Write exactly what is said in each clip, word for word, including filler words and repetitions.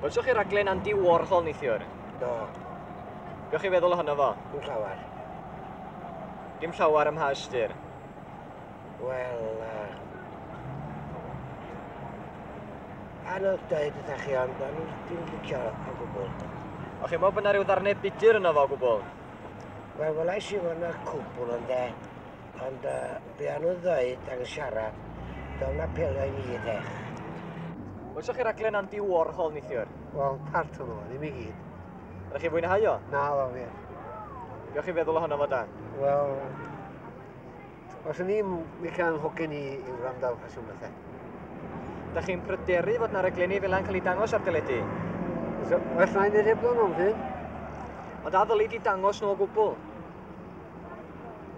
Welsoch chi raglen Andy Warhol neithiwr? Do. Be o'ch chi feddwl ohono fo? Dim llawer. Dim llawer ym mha ystyr? Wel, uh, anodd dweud wrthach chi, ond o'n i ddim licio o gwbl. O'ch chi'n meddwl bod 'na ryw ddarnau budur yno fo o gwbl? Wel, welais i fod 'na cwbl yn de, ond uh, be o'n nhw'n dweud ac yn siarad, do'n apelio i mi de. Welsoch chi raglen Andy Warhol neithiwr? Wel, part o'n nhw, ddim i gyd. Ydych chi'n fwynhau o? Na, ddo fi. Be o'ch chi'n feddwl ohono fo da? Wel, os o'n i'n licio hogyn i, i wrando ar ffasiwn bethau. Dach chi'n pryderu fod 'na raglenni fel 'na'n cael eu dangos ar deledu? Well na i wneud hebddyn nhw'n ffyn. Ond a ddylid i dangos nhw o gwbl?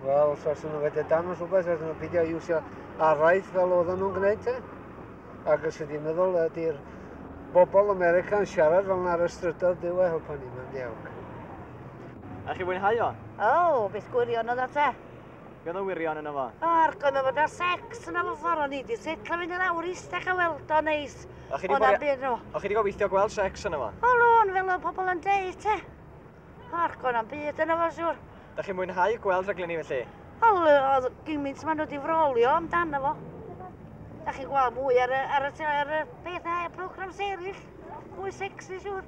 Wel, os oes nhw wedi dangos rhywbeth, os nhw'n peidio iwsio araith fel oedden nhw'n gwneud te. Ac os ydy'n meddwl ydy'r bobl America yn siarad fel 'na ar y strydoedd, Duw a helpa ni, mae'n diawg. A chi fwynhau o? O, beth gwirion oedd o te. Be oedd yn wirion yno fo? O, argoedd mae fod ar sex yna fo ffordd, o'n i di setlo fynd i lawr eistedd a weld o neis. O chi di gobeithio gweld sex yno fo? O, lôn, fel oedd pobl yn deud te. O, argoedd am byd yno fo, siwr. Da chi'n mwynhau gweld rhaglenni felly? O, oedd gymaint maen nhw wedi frolio amdano fo. Da chi'n gweld mwy ar y, ar y, ar y peth na, programs eraill, mwy sexy, siwr.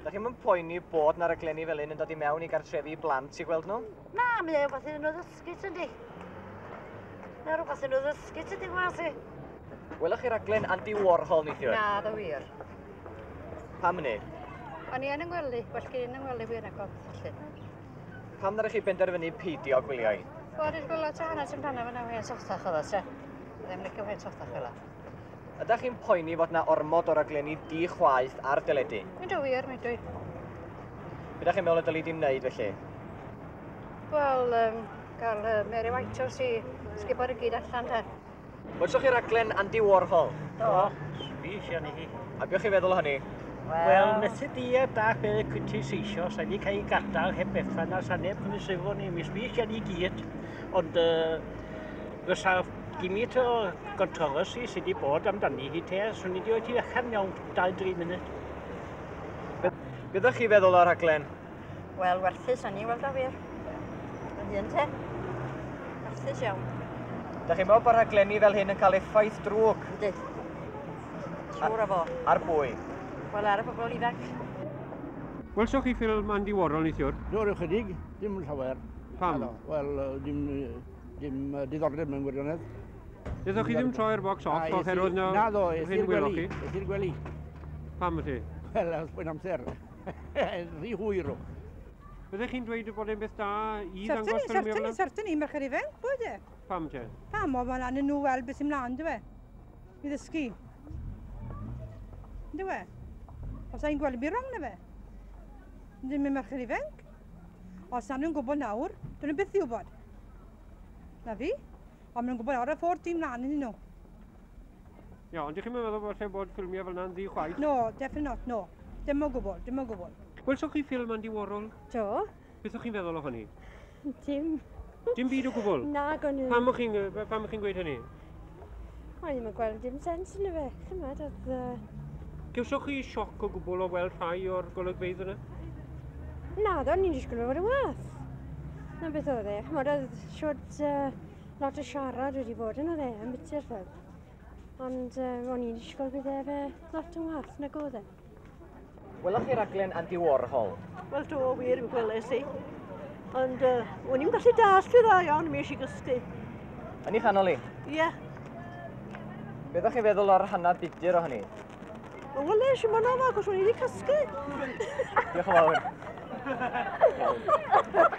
Da chi'n mynd poeni bod na raglenni fel un yn dod i mewn i gartrefi blant i gweld nhw? Na, mae o rhywbeth iddyn nhw ddysgu, tydi. Mae o rhywbeth iddyn nhw ddysgu, tydi, gwas i. Welwch chi raglen Andy Warhol neithiwr? Na, ddo wir. Pam hynny? O'n i yn yngwely, well gen i'n yngwely wir na gweld felly. Pam ddaru chi benderfynu peidio gwylio hi? Wel, dwi'n gweld lot o hanes amdano fe na hen sothach oedd o, te. Ddim licio hen sothach fel 'a. Ydych chi'n poeni fod 'na ormod o raglenni di-chwaeth ar deledu? Mynd o wir, mynd dwi. Be ydych chi'n meddwl y dylid i wneud felly? Wel, um, gael uh, Mary Whitehouse i sgubo'r i gyd allan te. Welsoch chi raglen Andy Warhol? Do, sbys iawn i hi. A be o'ch chi'n feddwl o hynny? Wel, methu di a da be critiseisio, sa'n ni cael ei gadael heb bethau na sa neb yn sylw ni, mi sbys iawn i gyd. Ond uh, fysa gymint o controversy sydd wedi bod amdani hi te, swn i wedi oed i allan mewn dau dri munud. Be ydych chi feddwl o'r rhaglen? Wel, werthus o'n i weld o wir. Yn hun te. Werthus iawn. Dach chi'n meddwl bod rhaglenni fel hyn yn cael effaith drwg? Yndi. Siŵr o fo. Ar bwy? Wel, ar y bobl ifanc. Welsoch chi ffilm Andy Warhol neithiwr? Do, ryw chydig, dim llawer. Pam? Wel, dim, dim diddordeb mewn gwirionedd. Ddethoch chi ddim troi'r box off oherwydd na... Na ddo, es i'r gwely. Es i'r gwely. Pam felly? Wel, os mae'n amser. Rhy hwyr o. Byddech chi'n dweud bod e'n beth da i ddangos ffilmiau fel yna? Certainly, certainly, merched ifanc, bod e. Pam te? Pam, o, mae'n angen nhw weld beth sy'n mlaen, dyw e? I ddysgu. Dyw e? Os ai'n gweld byd wrong na fe. Ddim yn merched ifanc. Os na nhw'n gwybod nawr, dyn nhw'n byth i wybod. Na fi. Ond maen nhw'n gwybod nawr y ffordd dim mlaen iddyn nhw. Ia, ond ydych chi'n meddwl bod lle bod ffilmiau fel yna'n ddi-chwaith? No, definitely not, no. Dim o gwbl, dim o gwbl. Welsoch chi ffilm Andy Warhol? Do. Beth o'ch chi'n feddwl o hynny? Dim. Dim byd o gwbl? Na, o'n i. Pam o'ch chi'n pam o'ch chi'n gweud hynny? O'n i'm yn gweld dim sens yn y fe. Chymod, oedd... Uh... Gewsoch chi sioc o gwbl o weld rhai o'r golygfeydd yna? Na, o'n i'n disgwyl fod yn wath. Na beth oedd e. Chymod, oedd siwt uh, lot o siarad wedi bod yn oedd e, am biti'r ffilm. Ond uh, o'n i'n disgwyl bydd e fe lot yn wath nag oedd e. Welwch chi raglen Andy Warhol? Wel do, wir, mi gweles i. Ond uh, o'n i'n gallu dallt i dda iawn, mi eisiau gysgu. Yn ei chanol i? Ie. Yeah. Be ddech chi'n feddwl o'r hanner budur o hynny? Wel, weles i mwynhau fo, achos o'n i wedi cysgu. Diolch yn fawr.